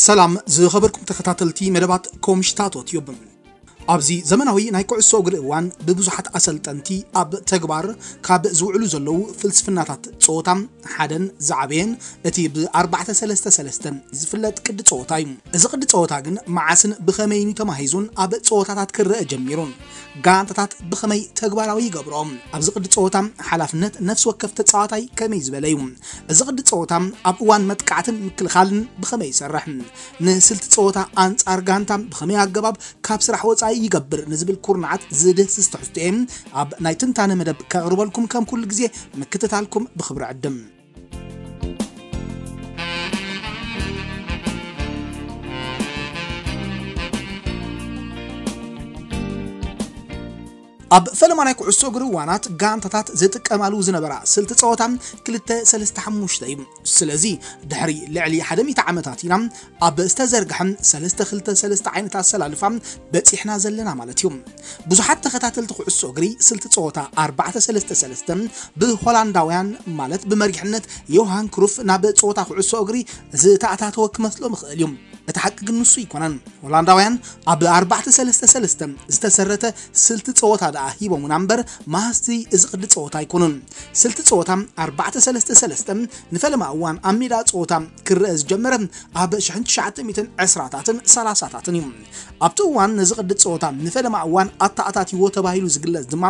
ሰላም ዝኸበርኩም ተኸታተልቲ መደባት ኮምሽታቶ ቲዩብ። ኣብዚ ዘመናዊ ናይ ኩዕሶ እግሪ እዋን ብብዙሓት ኣሰልጠንቲ ኣብ ተግባር ካብ ዝውዕሉ ዘለዉ ፍልስፍናታት ጸወታ ሓደን ዝዓበየን እቲ ብ ኣርባዕተ ሰለስተ ሰለስተ ዝፍለጥ ቅዲ ጸወታ እዩ። እዚ ቅዲ ጸወታ ግን መዓስን ብኸመይን እዩ ተማሂዙን ኣብ ጸወታታት ክረአ ጀሚሩን ጋንታታት ብኸመይ ተግባራዊ ይገብርኦ? ኣብዚ ቅዲ ጸወታ ሓላፍነት ነፍሲ ወከፍ ተጻዋታይ ከመይ ዝበለ እዩ? እዚ ቅዲ ጸወታ ኣብ እዋን መጥቃዕትን ምክልኻልን ብኸመይ ይሰርሕ? ንስልቲ ጸወታ ኣንጻር ጋንታ ብኸመይ ኣገባብ ካብ ስራሕ ወጻኢ ይገብር ንዝብል ኩርናዓት ዝድህስስ ትሕዝቶ እየ ኣብ ናይ ትንታነ መደብ ከቕርበልኩም ከም ኩሉ ግዜ ምክትታልኩም ብኽብሪ ዕድም። ኣብ ፈለማ ናይ ኩዕሶ እግሪ እዋናት ጋንታታት ዝጥቀማሉ ዝነበራ ስልቲ ጸወታ ክልተ ሰለስተ ሓሙሽተ እዩ። ስለዚ ድሕሪ ልዕሊ ሓደ ሚእቲ ዓመታት ኢና ኣብ ዝተዘርግሐ ሰለስተ ክልተ ሰለስተ ዓይነት ኣሰላልፋ በጺሕና ዘለና ማለት እዩ። ብዙሓት ተኸታተልቲ ኩዕሶ እግሪ ስልቲ ጸወታ ኣርባዕተ ሰለስተ ሰለስተ ብሆላንዳውያን ማለት ብመሪሕነት ዮሃን ክሩፍ ናብ ጸወታ ኩዕሶ እግሪ ዝተኣታተወ ክመስሎም ይኽእል እዩ። እቲ ሓቂ ግን ንሱ ኣይኮነን። ሆላንዳውያን ኣብ ኣርባዕተ ሰለስተ ሰለስተ ዝተሰረተ ስልቲ ጸወታ ደኣ ሂቦምና እምበር መሃዝቲ እዚ ቅዲ ጸወታ ኣይኮኑን። ስልቲ ጸወታ ኣርባዕተ ሰለስተ ሰለስተ ንፈለማ እዋን ኣብ ሜዳ ጸወታ ክረአ ዝጀመረ ኣብ ሽሕን ትሽዓተ ሚእትን ዕስራታትን ሰላሳታትን እዩ። ኣብቲ እዋን ነዚ ቅዲ ጸወታ ንፈለማ እዋን ኣተኣታትይዎ ተባሂሉ ዝግለጽ ድማ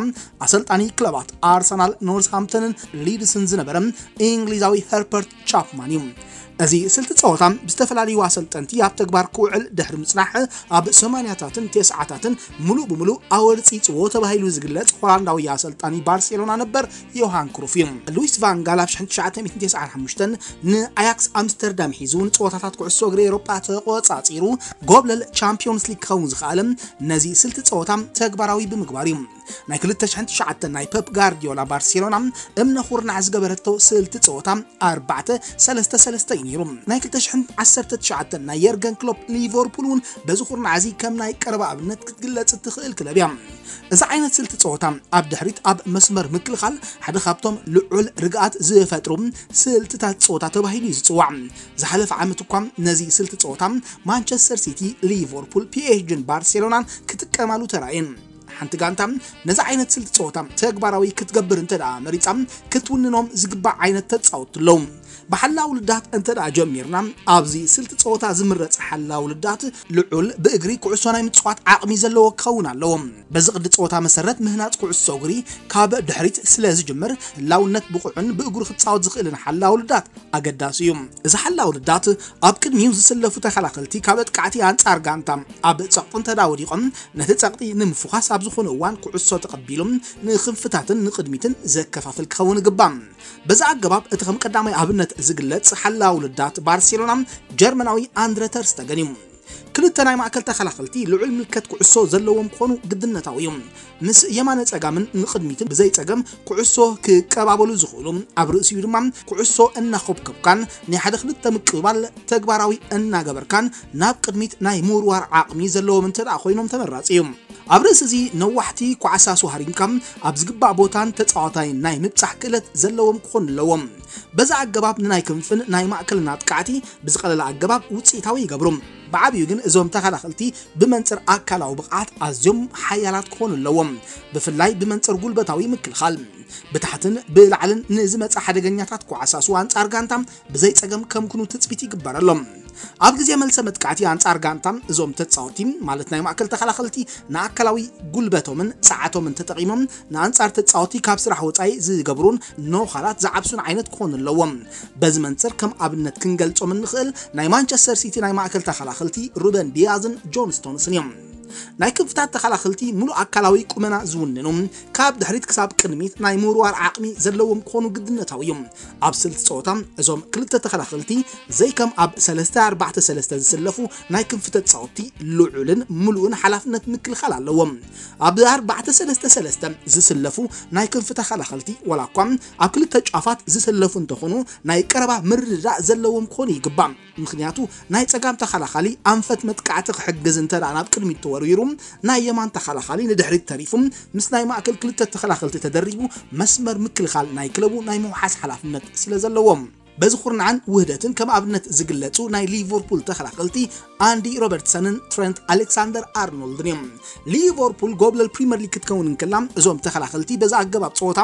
ኣሰልጣኒ ክለባት ኣርሰናል፣ ኖርዝሃምፕተንን ሊድስን ዝነበረ እንግሊዛዊ ኸርበርት ቻፕማን እዩ። እዚ ስልቲ ጸወታ ብዝተፈላለዩ ኣሰልጠንቲ ኣብ ተግባር ክውዕል ድሕሪ ምጽናሕ ኣብ ሰማንያታትን ተስዓታትን ምሉእ ብምሉእ ኣወርጺጽዎ ተባሂሉ ዝግለጽ ሆላንዳዊ ኣሰልጣኒ ባርሴሎና ነበር ዮሃን ክሩፍ እዩ። ሉዊስ ቫን ጋል ኣብ ሽሕን ትሽዓተ ሚእትን ተስዓን ሓሙሽተን ንኣያክስ ኣምስተርዳም ሒዙ ንጸወታታት ኩዕሶ እግሪ ኤውሮጳ ተቖጻጺሩ ጎብለል ቻምፒዮንስ ሊግ ክኸውን ዝኸኣለ ነዚ ስልቲ ጸወታ ተግባራዊ ብምግባር እዩ። ናይ ክልተ ሽሕን ትሽዓተን ናይ ፐፕ ጋርዲዮላ ባርሴሎና እምነ ኩርናዕ ዝገበረቶ ስልቲ ጸወታ ኣርባዕተ ሰለስተ ሰለስተ እዩ ነይሩ። ናይ ክልተ ሽሕን ዓሰርተ ትሽዓተን ናይ የርገን ክሎፕ ሊቨርፑል እውን በዚ ኩርናዕ እዚ ከም ናይ ቀረባ ኣብነት ክትግለጽ እትኽእል ክለብ እያ። እዚ ዓይነት ስልቲ ጸወታ ኣብ ድሕሪት ኣብ መስመር ምክልኻል ሓደ ካብቶም ልዑል ርግኣት ዝፈጥሩ ስልትታት ጸወታ ተባሂሉ እዩ ዝጽዋዕ። ዝሓለፈ ዓመት እኳ ነዚ ስልቲ ጸወታ ማንቸስተር ሲቲ፣ ሊቨርፑል፣ ፒኤስጂን ባርሴሎናን ክጥቀማሉ ተራእየን። ሓንቲ ጋንታ ነዚ ዓይነት ስልቲ ጸወታ ተግባራዊ ክትገብር እንተ ደኣ መሪጻ፣ ክትውንኖም ዝግባእ ዓይነት ተጻወትቲ ኣለዉ። ብሓላው ልዳት እንተ ደኣ ጀሚርና፣ ኣብዚ ስልቲ ጸወታ ዝምረጽ ሓላው ልዳት ልዑል ብእግሪ ኩዕሶ ናይ ምጽዋት ዓቕሚ ዘለዎ ክኸውን ኣለዎ። በዚ ቅዲ ጸወታ መሰረት ምህናጽ ኩዕሶ እግሪ ካብ ድሕሪት ስለ ዝጅምር፣ ህላውነት ብቑዕን ብእግሩ ክጻወት ዝኽእልን ሓላው ልዳት ኣገዳሲ እዩ። እዚ ሓላው ልዳት ኣብ ቅድሚኡ ዝስለፉ ተኸላኸልቲ ካብ ኣጥቃዕቲ ኣንጻር ጋንታ ኣብ ጸቕጢ እንተ ደኣ ወዲቖም፣ ነቲ ጸቕጢ ንምፍዃስ ኣብ ዝኾነ እዋን ኩዕሶ ተቐቢሉ ንክንፍታትን ንቕድሚትን ዘከፋፍል ክኸውን ይግባእ። በዚ ኣገባብ እቲ ከም ቀዳማይ ኣብነት ዝግለጽ ሓላው ልዳት ባርሴሎና ጀርመናዊ ኣንድረ ተር ስቴገን እዩ። ክልተ ናይ ማእከል ተኸላኸልቲ ልዑል ምልከት ኩዕሶ ዘለዎም ክኾኑ ግድነታዊ እዩ። ምስ የማነ ጸጋምን ንቕድሚትን ብዘይ ጸገም ኩዕሶ ክቀባበሉ ዝኽእሉ፣ ኣብ ርእሲኡ ድማ ኩዕሶ እናኾብከብካን ናይ ሓደ ክልተ ምቅብባል ተግባራዊ እናገበርካን ናብ ቅድሚት ናይ ምውርዋር ዓቕሚ ዘለዎም እንተ ደኣ ኮይኖም ተመራጺ እዩ። ኣብ ርእሲ እዚ ነዋሕቲ ኳዕሳሱ ሃሪምካ ኣብ ዝግባእ ቦታን ተጻዋታይን ናይ ምብጻሕ ክእለት ዘለዎም ክኾኑ ኣለዎም። በዚ ኣገባብ ንናይ ክንፍን ናይ ማእከልን ኣጥቃዕቲ ብዝቐለለ ኣገባብ ውጽኢታዊ ይገብሩ። ብዓቢኡ ግን እዞም ተኸላኸልቲ ብመንጽር ኣካላዊ ብቕዓት ኣዝዮም ሓያላት ክኾኑ ኣለዎም፣ ብፍላይ ብመንጽር ጉልበታዊ ምክልኻል። ብታሕትን ብላዕልን ንዝመጽእ ሓደገኛታት ኳዕሳሱ ኣንጻር ጋንታ ብዘይ ጸገም ከምክኑ ትጽቢት ይግበረሎም። ኣብ ግዜ መልሰ መጥቃዕቲ ኣንጻር ጋንታ እዞም ተጻወቲ፣ ማለት ናይ ማእከል ተኸላኸልቲ፣ ንኣካላዊ ጉልበቶምን ጸዓቶምን ተጠቒሞም ንኣንጻር ተጻወቲ ካብ ስራሕ ወጻኢ ዝገብሩን ኖኻላት ዝዓብሱን ዓይነት ክኾኑ ኣለዎም። በዚ መንጽር ከም ኣብነት ክንገልጾም እንኽእል ናይ ማንቸስተር ሲቲ ናይ ማእከል ተኸላኸልቲ ሩበን ዲያዝን ጆን ስቶንስን እዮም። ናይ ክንፍታት ተኸላኸልቲ ምሉእ ኣካላዊ ቁመና ዝውንኑ፣ ካብ ድሕሪት ክሳብ ቅድሚት ናይ ምውርዋር ዓቕሚ ዘለዎም ክኾኑ ግድነታዊ እዩ። ኣብ ስልቲ ጸወታ እዞም ክልተ ተኸላኸልቲ ዘይከም ኣብ ሰለስተ ኣርባዕተ ሰለስተ ዝስለፉ ናይ ክንፊ ተጻወትቲ ልዑልን ምሉእን ሓላፍነት ምክልኻል ኣለዎም። ኣብ ኣርባዕተ ሰለስተ ሰለስተ ዝስለፉ ናይ ክንፊ ተኸላኸልቲ ዋላ እኳ ኣብ ክልተ ጫፋት ዝስለፉ እንተኾኑ ናይ ቀረባ ምርድዳእ ዘለዎም ክኾኑ ይግባእ። ምኽንያቱ ናይ ጸጋም ተኸላኻሊ ኣንፈት መጥቃዕቲ ክሕግዝ እንተ ደኣ ናብ ቅድሚት ተወርዊሩ ናይ የማን ተኸላኻሊ ንድሕሪት ተሪፉ ምስ ናይ ማእከል ክልተ ተኸላኸልቲ ተደሪቡ መስመር ምክልኻል ናይ ክለቡ ናይ ምውሓስ ሓላፍነት ስለ ዘለዎም። በዚ ኩርናዕን ውህደትን ከም ኣብነት ዝግለጹ ናይ ሊቨርፑል ተኸላኸልቲ ኣንዲ ሮበርትሰንን ትረንት ኣሌክሳንደር ኣርኖልድን እዮም። ሊቨርፑል ጎብለል ፕሪምየር ሊግ ክትከውን እንከላ፣ እዞም ተኸላኸልቲ በዚ ኣገባብ ጸወታ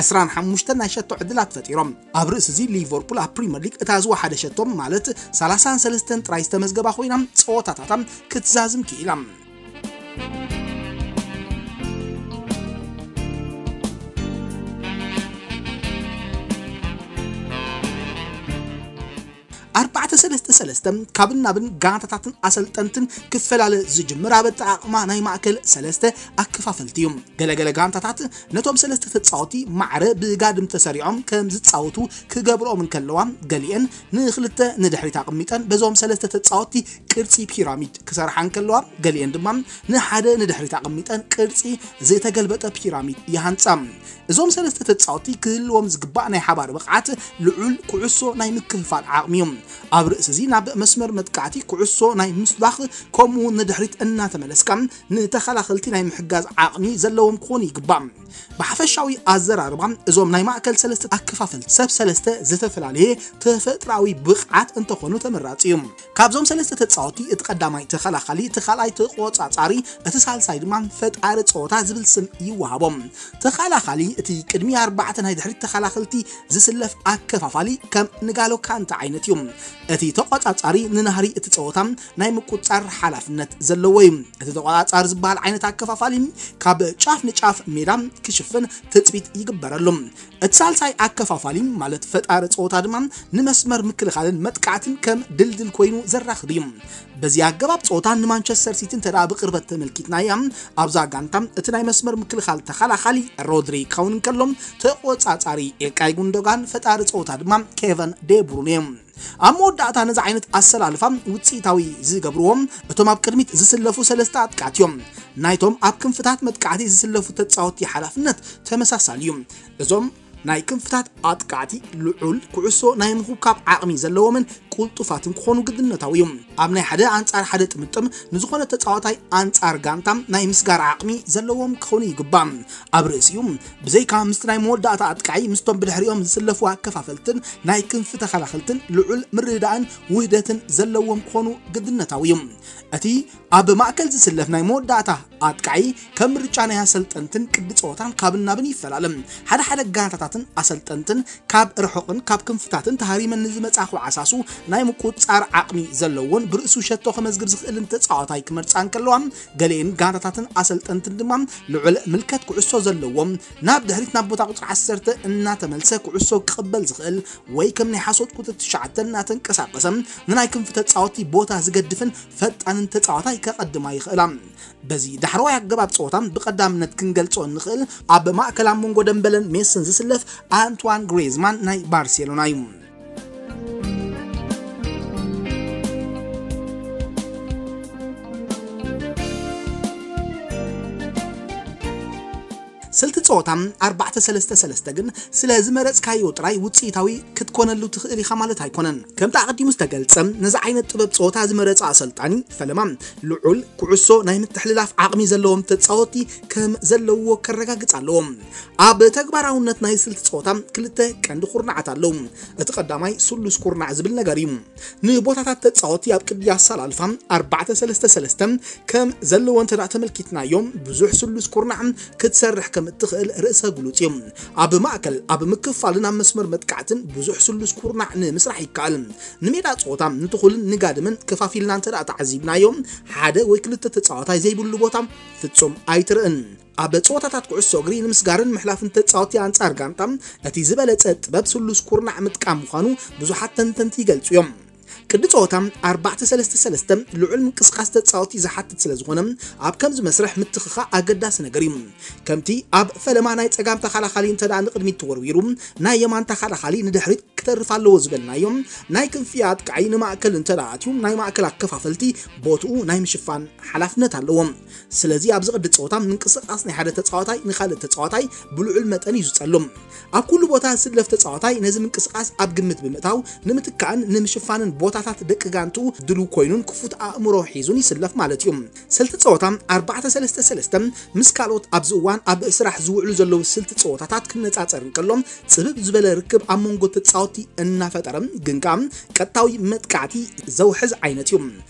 ዕስራን ሓሙሽተን ናይ ሸቶ ዕድላት ፈጢሮም። ኣብ ርእሲ እዚ ሊቨርፑል ኣብ ፕሪምየር ሊግ እታ ዝወሓደ ሸቶ ማለት ሰላሳን ሰለስተን ጥራይ ዝተመዝገባ ኮይና፣ ጸወታታታ ክትዛዝም ክኢላ። ኣርባዕተ ሰለስተ ሰለስተ ካብን ናብን ጋንታታትን ኣሰልጠንትን ክፈላለ ዝጅምር ኣብ ኣጠቓቕማ ናይ ማእከል ሰለስተ ኣከፋፈልቲ እዩ። ገለገለ ጋንታታት ነቶም ሰለስተ ተጻወቲ ማዕረ ብጋድም ተሰሪዖም ከም ዝጻወቱ ክገብርኦም እንከለዋ፣ ገሊአን ንኽልተ ንድሕሪት ኣቕሚጠን በዞም ሰለስተ ተጻወቲ ቅርጺ ፒራሚድ ክሰርሓ እንከለዋ፣ ገሊአን ድማ ንሓደ ንድሕሪት ኣቐሚጠን ቅርጺ ዝተገልበጠ ፒራሚድ ይሃንጻ። እዞም ሰለስተ ተጻወቲ ክህልዎም ዝግባእ ናይ ሓባር ብቕዓት ልዑል ኩዕሶ ናይ ምክፍፋል ዓቕሚ እዩ። ኣብ ርእሲ እዚ ናብ መስመር መጥቃዕቲ ኩዕሶ ናይ ምስባኽ ከምኡ እውን ንድሕሪት እናተመለስካ ንተኸላኸልቲ ናይ ምሕጋዝ ዓቕሚ ዘለዎም ክኾኑ ይግባእ። ብሓፈሻዊ ኣዘራርባ እዞም ናይ ማእከል ሰለስተ ኣከፋፈልቲ ሰብ ሰለስተ ዝተፈላለየ ተፈጥራዊ ብቕዓት እንተኾኑ ተመራጺ እዩ። ካብዞም ሰለስተ ተጻወቲ እቲ ቀዳማይ ተኸላኻሊ፣ እቲ ካልኣይ ተቆጻጻሪ፣ እቲ ሳልሳይ ድማ ፈጣሪ ጸወታ ዝብል ስም ይወሃቦም። ተኸላኻሊ እቲ ቅድሚ ኣርባዕተ ናይ ድሕሪት ተኸላኸልቲ ዝስለፍ ኣከፋፋሊ ከም ንጋሎ ካንተ ዓይነት እዩ። እቲ ተቆጻጻሪ ንናህሪ እቲ ጸወታ ናይ ምቁጻር ሓላፍነት ዘለዎ እዩ። እቲ ተቆጻጻሪ ዝበሃል ዓይነት ኣከፋፋሊ ካብ ጫፍ ንጫፍ ሜዳ ክሽፍን ትጽቢት ይግበረሉ። እቲ ሳልሳይ ኣከፋፋሊ ማለት ፈጣሪ ጸወታ ድማ ንመስመር ምክልኻልን መጥቃዕትን ከም ድልድል ኮይኑ ዘራኽብ እዩ። በዚ ኣገባብ ጸወታ ንማንቸስተር ሲቲ እንተ ደኣ ብቕርበት ተመልኪትናያ፣ ኣብዛ ጋንታ እቲ ናይ መስመር ምክልኻል ተኸላኻሊ ሮድሪ ክኸውን እንከሎ፣ ተቆጻጻሪ ኢልካይ ጉንዶጋን፣ ፈጣሪ ጸወታ ድማ ኬቨን ዴብሩን እዮም። ኣብ መወዳእታ ነዚ ዓይነት ኣሰላልፋ ውጽኢታዊ ዝገብርዎም እቶም ኣብ ቅድሚት ዝስለፉ ሰለስተ ኣጥቃዕቲ እዮም። ናይቶም ኣብ ክንፍታት መጥቃዕቲ ዝስለፉ ተጻወቲ ሓላፍነት ተመሳሳሊ እዩ። እዞም ናይ ክንፍታት ኣጥቃዕቲ ልዑል ኩዕሶ ናይ ምኹብካብ ዓቕሚ ዘለዎምን ቅልጡፋትን ክኾኑ ግድነታዊ እዩ። ኣብ ናይ ሓደ ኣንጻር ሓደ ጥምጥም ንዝኾነ ተጻዋታይ ኣንጻር ጋንታ ናይ ምስጋር ዓቕሚ ዘለዎም ክኾኑ ይግባእ። ኣብ ርእሲኡ ብዘይካ ምስቲ ናይ መወዳእታ ኣጥቃዒ ምስቶም ብድሕሪኦም ዝስለፉ ኣከፋፈልትን ናይ ክንፊ ተኸላኸልትን ልዑል ምርድዳእን ውህደትን ዘለዎም ክኾኑ ግድነታዊ እዩ። እቲ ኣብ ማእከል ዝስለፍ ናይ መወዳእታ ኣጥቃዒ ከም ምርጫ ናይ ኣሰልጠንትን ቅዲ ጸወታን ካብን ናብን ይፈላለ። ሓደ ሓደ ጋንታታትን ኣሰልጠንትን ካብ ርሑቕን ካብ ክንፍታትን ተሃሪመን ንዝመጻ ክዓሳሱ ናይ ምቁጽጻር ዓቕሚ ዘለዎን ብርእሱ ሸቶ ከመዝግብ ዝኽእልን ተጻዋታይ ክመርጻ እንከለዋ፣ ገሊኤን ጋንታታትን ኣሰልጠንትን ድማ ልዑል ምልከት ኩዕሶ ዘለዎም፣ ናብ ድሕሪት ናብ ቦታ ቁጽሪ ዓሰርተ እናተመልሰ ኩዕሶ ክቕበል ዝኽእል ወይ ከም ናይ ሓሶት ቁጽሪ ትሽዓተ እናተንቀሳቐሰ ንናይ ክንፊ ተጻወቲ ቦታ ዝገድፍን ፈጣንን ተጻዋታይ ከቐድማ ይኽእላ። በዚ ዳሕረዋይ ኣገባብ ጸወታ ብቐዳምነት ክንገልጾ እንኽእል ኣብ ማእከል ኣብ መንጎ ደምበለን ሜስን ዝስለፍ ኣንትዋን ግሬዝማን ናይ ባርሴሎና እዩ። ስልቲ ጸወታ ኣርባዕተ ሰለስተ ሰለስተ ግን ስለ ዝመረጽካዮ ጥራይ ውጽኢታዊ ክትኮነሉ ትኽእል ኢኻ ማለት ኣይኮነን። ከምቲ ኣቐዲሙ ዝተገልጸ፣ ነዚ ዓይነት ጥበብ ጸወታ ዝመረጸ ኣሰልጣኒ ፈለማ ልዑል ኩዕሶ ናይ ምትሕልላፍ ዓቕሚ ዘለዎም ተጻወቲ ከም ዘለዎ ከረጋግጽ ኣለዎ። ኣብ ተግባራውነት ናይ ስልቲ ጸወታ ክልተ ቀንዲ ኩርናዓት ኣለዉ። እቲ ቀዳማይ ስሉስ ኩርናዕ ዝብል ነገር እዩ። ንቦታታት ተጻወቲ ኣብ ቅዲ ኣሰላልፋ ኣርባዕተ ሰለስተ ሰለስተ ከም ዘለዎ እንተ ደኣ ተመልኪትናዮም፣ ብዙሕ ስሉስ ኩርናዕ ክትሰርሕ ከም እትኽእል ርእሰ ግሉጽ እዩ። ኣብ ማእከል፣ ኣብ ምክፋልን ኣብ መስመር መጥቃዕትን ብዙሕ ስሉስ ኩርናዕ ንምስራሕ ይከኣል። ንሜዳ ጸወታ ንትኹልን ንጋድምን ከፋፊልና እንተ ደኣ ተዓዚብናዮ፣ ሓደ ወይ ክልተ ተጻዋታይ ዘይብሉ ቦታ ፍጹም ኣይትርእን። ኣብ ጸወታታት ኩዕሶ እግሪ ንምስጋርን ምሕላፍን ተጻወቲ ኣንጻር ጋንታ እቲ ዝበለጸ ጥበብ ስሉስ ኩርናዕ ምጥቃም ምዃኑ ብዙሓት ተንተንቲ ይገልጹ እዮም። ቅዲ ጸወታ ኣርባዕተ ሰለስተ ሰለስተ ልዑል ምንቅስቓስ ተጻወቲ ዝሓትት ስለ ዝኾነ፣ ኣብ ከምዚ መስርሕ ምትኽኻእ ኣገዳሲ ነገር እዩ። ከምቲ ኣብ ፈለማ ናይ ጸጋም ተኸላኻሊ እንተ ደኣ ንቕድሚት ተወርዊሩ፣ ናይ የማን ተኸላኻሊ ንድሕሪት ክተርፍ ኣለዎ ዝበልናዮም፣ ናይ ክንፊ ኣጥቃዒ ንማእከል እንተ ደኣ ኣትዩ፣ ናይ ማእከል ኣከፋፈልቲ ቦትኡ ናይ ምሽፋን ሓላፍነት ኣለዎም። ስለዚ ኣብዚ ቅዲ ጸወታ ምንቅስቓስ ናይ ሓደ ተጻዋታይ ንኻልእ ተጻዋታይ ብልዑል መጠን እዩ ዝጸሉ። ኣብ ኩሉ ቦታ ዝስለፍ ተጻዋታይ ነዚ ምንቅስቓስ ኣብ ግምት ብምእታው ንምትካእን ንምሽፋንን ቦታ ጸወታታት ደቂ ጋንቱ ድሉ ኮይኑን ክፉት ኣእምሮ ሒዙን ይስለፍ ማለት እዩ። ስልቲ ጸወታ ኣርባዕተ ሰለስተ ሰለስተ ምስ ካልኦት ኣብዚ እዋን ኣብ ስራሕ ዝውዕሉ ዘለዉ ስልቲ ጸወታታት ክነጻጸር እንከሎ፣ ጽብብ ዝበለ ርክብ ኣብ መንጎ ተጻወትቲ እናፈጠረ ግን ከኣ ቀጥታዊ መጥቃዕቲ ዘውሕዝ ዓይነት እዩ።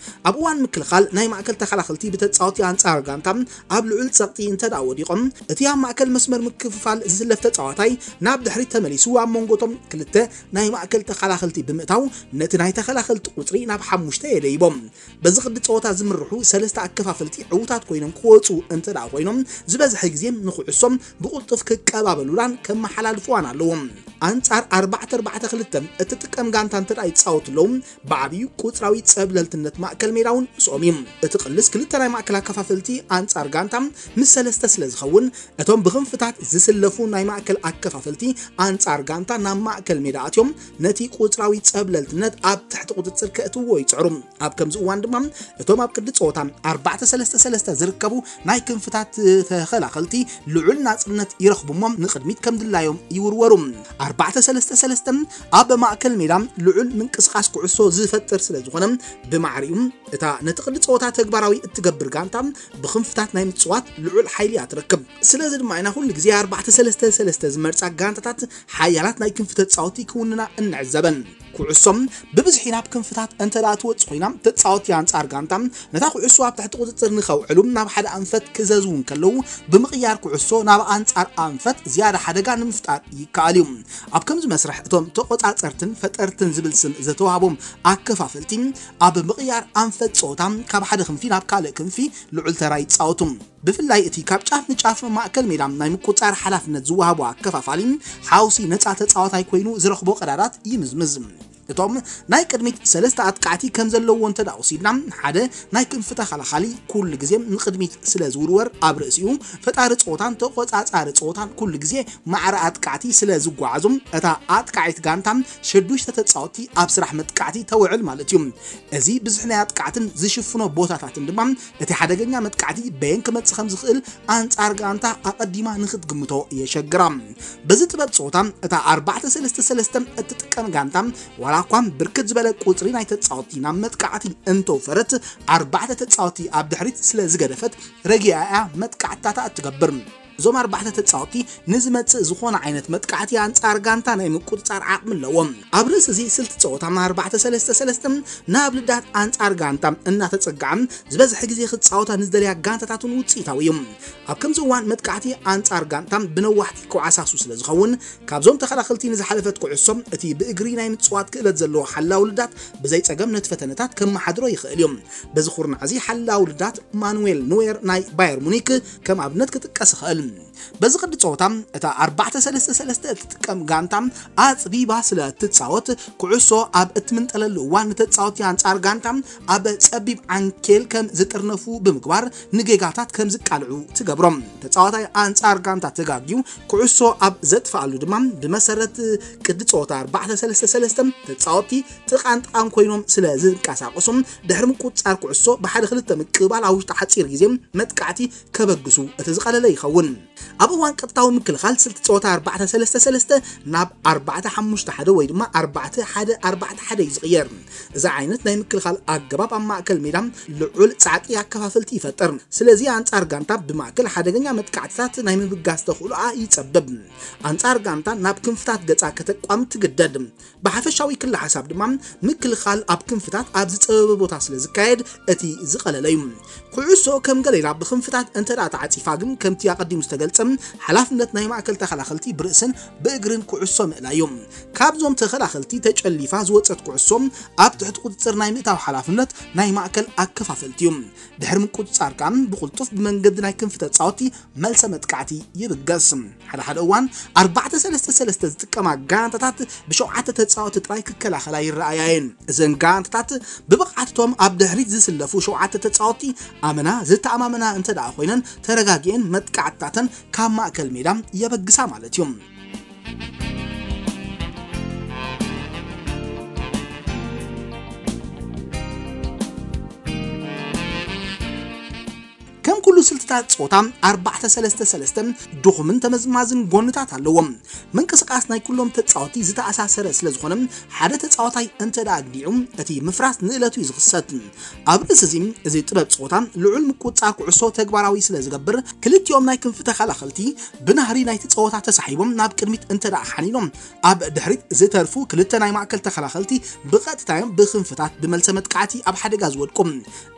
ኣብ እዋን ምክልኻል ናይ ማእከል ተኸላኸልቲ ብተጻወትቲ ኣንጻር ጋንታ ኣብ ልዑል ጸቕጢ እንተ ደኣ ወዲቖም፣ እቲ ኣብ ማእከል መስመር ምክፍፋል ዝስለፍ ተጻዋታይ ናብ ድሕሪት ተመሊሱ ኣብ መንጎቶም ክልተ ናይ ማእከል ተኸላኸልቲ ብምእታው ነቲ ናይ ተኸላኸልቲ ቁጽሪ ናብ ሓሙሽተ የደይቦም። በዚ ቅዲ ጸወታ ዝምርሑ ሰለስተ ኣከፋፈልቲ ዕዉታት ኮይኖም ክወጹ እንተ ደኣ ኮይኖም፣ ዝበዝሐ ግዜ ንኩዕሶም ብቕልጡፍ ክቀባበሉላን ከመሓላልፉዋን ኣለዎም። ኣንጻር ኣርባዕተ ኣርባዕተ ክልተ እትጥቀም ጋንታ እንተ ደኣ ይጻወቱ ኣለዉ፣ ብዓብዩ ቁጽራዊ ጸብለልትነት ማእከል ሜዳ እውን ምስኦም እዩ። እቲ ቅልስ ክልተ ናይ ማእከል ኣከፋፈልቲ ኣንጻር ጋንታ ምስ ሰለስተ ስለ ዝኸውን፣ እቶም ብክንፍታት ዝስለፉ ናይ ማእከል ኣከፋፈልቲ ኣንጻር ጋንታ ናብ ማእከል ሜዳ ኣትዮም ነቲ ቁጽራዊ ጸብለልትነት ኣብ ትሕቲ ቁጽጽር ከእትውዎ ይጽዕሩ። ኣብ ከምዚ እዋን ድማ እቶም ኣብ ቅዲ ጸወታ ኣርባዕተ ሰለስተ ሰለስተ ዝርከቡ ናይ ክንፍታት ተኸላኸልቲ ልዑል ናጽነት ይረኽቡ እሞ ንቕድሚት ከም ድላዮም ይውርወሩ። ኣርባዕተ ሰለስተ ሰለስተ ኣብ ማእከል ሜዳ ልዑል ምንቅስቓስ ኩዕሶ ዝፈጥር ስለ ዝኾነ ብማዕሪኡ እታ ነቲ ቅዲ ጸወታ ተግባራዊ እትገብር ጋንታ ብክንፍታት ናይ ምጽዋት ልዑል ሓይሊ እያ ትረክብ። ስለዚ ድማ ኢና ኩሉ ግዜ ኣርባዕተ ሰለስተ ሰለስተ ዝመርጻ ጋንታታት ሓያላት ናይ ክንፊ ተጻወትቲ ክውንና እንዕዘበን። ኩዕሶም ብብዝሒ ናብ ክንፍታት እንተ ደኣ ትወጽእ ኮይና፣ ተጻወትቲ ኣንጻር ጋንታ ነታ ኩዕሶ ኣብ ትሕቲ ቁጽጽር ንኸውዕሉ ናብ ሓደ ኣንፈት ክዘዝዉ እንከለዉ፣ ብምቕያር ኩዕሶ ናብ ኣንጻር ኣንፈት ዝያዳ ሓደጋ ንምፍጣር ይከኣል እዩ። ኣብ ከምዚ መስርሕ እቶም ተቖጻጸርትን ፈጠርትን ዝብል ስም ዝተዋህቦም ኣከፋፈልቲ ኣብ ምቕያር ኣንፈት ጸወታ ካብ ሓደ ክንፊ ናብ ካልእ ክንፊ ልዑል ተራ ይጻወቱ። ብፍላይ እቲ ካብ ጫፍ ንጫፍ ማእከል ሜዳ ናይ ምቁጽጻር ሓላፍነት ዝወሃቦ ኣከፋፋሊ ሓውሲ ነጻ ተጻዋታይ ኮይኑ ዝረኽቦ ቀዳዳት ይምዝምዝ። እቶም ናይ ቅድሚት ሰለስተ ኣጥቃዕቲ ከም ዘለዎ እንተ ደኣ ወሲድና፣ ሓደ ናይ ክንፊ ተኸላኻሊ ኩሉ ግዜ ንቕድሚት ስለ ዝውርወር ኣብ ርእሲኡ ፈጣሪ ጸወታን ተቖጻጻሪ ጸወታን ኩሉ ግዜ ማዕረ ኣጥቃዕቲ ስለ ዝጓዓዙ፣ እታ ኣጥቃዒት ጋንታ ሸዱሽተ ተጻወትቲ ኣብ ስራሕ መጥቃዕቲ ተውዕል ማለት እዩ። እዚ ብዝሒ ናይ ኣጥቃዕትን ዝሽፍኖ ቦታታትን ድማ እቲ ሓደገኛ መጥቃዕቲ በየን ክመጽእ ከም ዝኽእል ኣንጻር ጋንታ ኣቐዲማ ንኽትግምቶ የሸግራ። በዚ ጥበብ ጸወታ እታ ኣርባዕተ ሰለስተ ሰለስተ እትጥቀም ጋንታ ዋላ እኳ ብርክት ዝበለ ቁጽሪ ናይ ተጻወትቲ ናብ መጥቃዕቲ እንተውፈረት ኣርባዕተ ተጻወትቲ ኣብ ድሕሪት ስለ ዝገደፈት ረጊኣ እያ መጥቃዕትታታ እትገብር። እዞም ኣርባዕተ ተጻወትቲ ንዝመጽእ ዝኾነ ዓይነት መጥቃዕቲ ኣንጻር ጋንታ ናይ ምቁጽጻር ዓቕሚ ኣለዎም። ኣብ ርእሲ እዚ ስልቲ ጸወታ ኣርባዕተ ሰለስተ ሰለስተ ናብ ልዳት ኣንጻር ጋንታ እናተጸግዓ ዝበዝሐ ግዜ ክጻወታ ንዝደልያ ጋንታታት እውን ውጽኢታዊ እዩ። ኣብ ከምዚ እዋን መጥቃዕቲ ኣንጻር ጋንታ ብነዋሕቲ ክዓሳሱ ስለ ዝኸውን ካብዞም ተኸላኸልቲ ንዝሓለፈት ኩዕሶ እቲ ብእግሪ ናይ ምጽዋት ክእለት ዘለዎ ሓላው ልዳት ብዘይ ጸገም ነቲ ፈተነታት ከመሓድሮ ይኽእል እዩ። በዚ ኩርናዕ እዚ ሓላው ልዳት ማኑዌል ኑዌር ናይ ባየር ሙኒክ ከም ኣብነት ክጥቀስ ይኽእል። በዚ ቅዲ ጸወታ እታ ኣርባዕተ ሰለስተ ሰለስተ እትጥቀም ጋንታ ኣጽቢባ ስለ እትጻወት ኩዕሶ ኣብ እትምንጠለሉ እዋን ንተጻወቲ ኣንጻር ጋንታ ኣብ ጸቢብ ዓንኬል ከም ዝጥርነፉ ብምግባር ንጌጋታት ከም ዝቃልዑ ትገብሮም። ተጻዋታይ ኣንጻር ጋንታ ተጋግዩ ኩዕሶ ኣብ ዘጥፍኣሉ ድማ ብመሰረት ቅዲ ጸወታ ኣርባዕተ ሰለስተ ሰለስተ ተጻወቲ ጥቓን ጥቓን ኮይኖም ስለ ዝንቀሳቐሱ ድሕሪ ምቁጽጻር ኩዕሶ ብሓደ ክልተ ምቅባል ኣብ ውሽጢ ሓጺር ግዜ መጥቃዕቲ ከበግሱ እቲ ዝቐለለ ይኸውን። ኣብ እዋን ቀጥታዊ ምክልኻል ስልቲ ጸወታ ኣርባዕተ ሰለስተ ሰለስተ ናብ ኣርባዕተ ሓሙሽተ ሓደ ወይ ድማ ኣርባዕተ ሓደ ኣርባዕተ ሓደ እዩ ዝቕየር። እዚ ዓይነት ናይ ምክልኻል ኣገባብ ኣብ ማእከል ሜዳ ልዑል ጻዕቂ ኣከፋፈልቲ ይፈጥር። ስለዚ ኣንጻር ጋንታ ብማእከል ሓደገኛ መጥቃዕትታት ናይ ምብጋስ ተኽእሎኣ ይጸብብ። ኣንጻር ጋንታ ናብ ክንፍታት ገጻ ከተቋም ትግደድ። ብሓፈሻዊ ክሊ ሓሳብ ድማ ምክልኻል ኣብ ክንፍታት ኣብ ዝጸበበ ቦታ ስለ ዝካየድ እቲ ዝቐለለ እዩ። ኩዕሶ ከም ገሌላ ብክንፍታት እንተ ደኣ ተዓጺፋ ግን ከምቲ ኣቐዲሙ ዝተገልጸ ሓላፍነት ናይ ማእከል ተኸላኸልቲ ብርእስን ብእግርን ኩዕሶ ምእላይ እዩ። ካብዞም ተኸላኸልቲ ተጨሊፋ ዝወጸት ኩዕሶ ኣብ ትሕቲ ቁጽጽር ናይ ምእታው ሓላፍነት ናይ ማእከል ኣከፋፈልቲ እዩ። ድሕሪ ምቁጽጻር ከኣ ብቕልጡፍ ብመንገዲ ናይ ክንፊ ተጻወቲ መልሰ መጥቃዕቲ ይብገስ። ሓደ ሓደ እዋን ኣርባዕተ ሰለስተ ሰለስተ ዝጥቀማ ጋንታታት ብሸውዓተ ተጻወቲ ጥራይ ክከላኸላ ይረኣያ እየን። እዘን ጋንታታት ብብቕዓትቶም ኣብ ድሕሪት ዝስለፉ ሸውዓተ ተጻወቲ ኣመና ዝተኣማመና እንተ ደኣ ኮይነን ተረጋጊኤን መጥቃዕትታተን ካብ ማእከል ሜዳ የበግሳ ማለት እዩ። ከም ኩሉ ስልትታት ጸወታ ኣርባዕተ ሰለስተ ሰለስተ ድኹምን ተመዝማዝን ጎንታት ኣለዎም። ምንቅስቃስ ናይ ኩሎም ተጻወቲ ዝተኣሳሰረ ስለ ዝኾነ፣ ሓደ ተጻዋታይ እንተ ደኣ ኣግዲዑ፣ እቲ ምፍራስ ንእለቱ እዩ ዝኽሰት። ኣብ ርእሲ እዚ፣ እዚ ጥበብ ጸወታ ልዑል ምቁጽጻር ኩዕሶ ተግባራዊ ስለ ዝገብር፣ ክልቲኦም ናይ ክንፊ ተኸላኸልቲ ብናህሪ ናይቲ ጸወታ ተሳሒቦም ናብ ቅድሚት እንተ ደኣ ሓኒኖም፣ ኣብ ድሕሪት ዝተርፉ ክልተ ናይ ማእከል ተኸላኸልቲ ብቐጥታ እዮም ብክንፍታት ብመልሰ መጥቃዕቲ ኣብ ሓደጋ ዝወድቁ።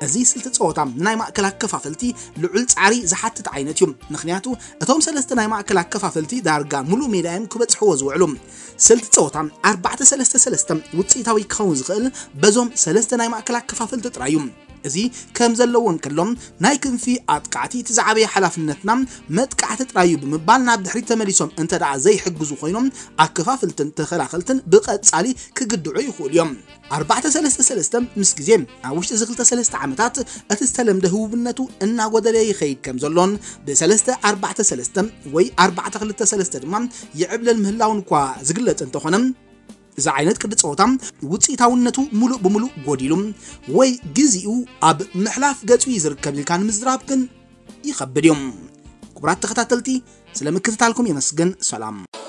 እዚ ስልቲ ጸወታ ንናይ ማእከል ኣከፋፈልቲ ልዑል ጻዕሪ ዝሓትት ዓይነት እዩ። ምኽንያቱ፣ እቶም ሰለስተ ናይ ማእከል ኣከፋፈልቲ ዳርጋ ሙሉእ ሜዳ እዮም ክበጽሕዎ ዝውዕሉ። ስልቲ ጸወታ ኣርባዕተ ሰለስተ ሰለስተ ውጽኢታዊ ክኸውን ዝኽእል በዞም ሰለስተ ናይ ማእከል ኣከፋፈልቲ ጥራይ እዩ። እዚ ከም ዘለዎ እንከሎ፣ ናይ ክንፊ ኣጥቃዕቲ እቲ ዝዓበየ ሓላፍነትና መጥቃዕቲ ጥራይ እዩ ብምባል ናብ ድሕሪት ተመሊሶም እንተ ደኣ ዘይሕግዙ ኮይኖም፣ ኣከፋፍልትን ተኸላኸልትን ብቐጻሊ ክግድዑ ይኽእሉ እዮም። ኣርባዕተ ሰለስተ ሰለስተ ምስ ግዜ ኣብ ውሽጢ እዚ ክልተ ሰለስተ ዓመታት እቲ ዝተለምደ ህቡብነቱ እናጎደለ ይኸይድ ከም ዘሎን ብሰለስተ ኣርባዕተ ሰለስተ ወይ ኣርባዕተ ክልተ ሰለስተ ድማ ይዕብለል ምህላውን እኳ ዝግለጽ እንተኾነ፣ እዚ ዓይነት ቅዲ ጸወታ ውጽኢታውነቱ ሙሉእ ብሙሉእ ጎዲሉ ወይ ግዜኡ ኣብ ምሕላፍ ገጹ እዩ ዝርከብ ኢልካ ንምዝራብ ግን ይኸብድ እዩ። ክቡራት ተኸታተልቲ፣ ስለ ምክትታልኩም የመስግን። ሰላም።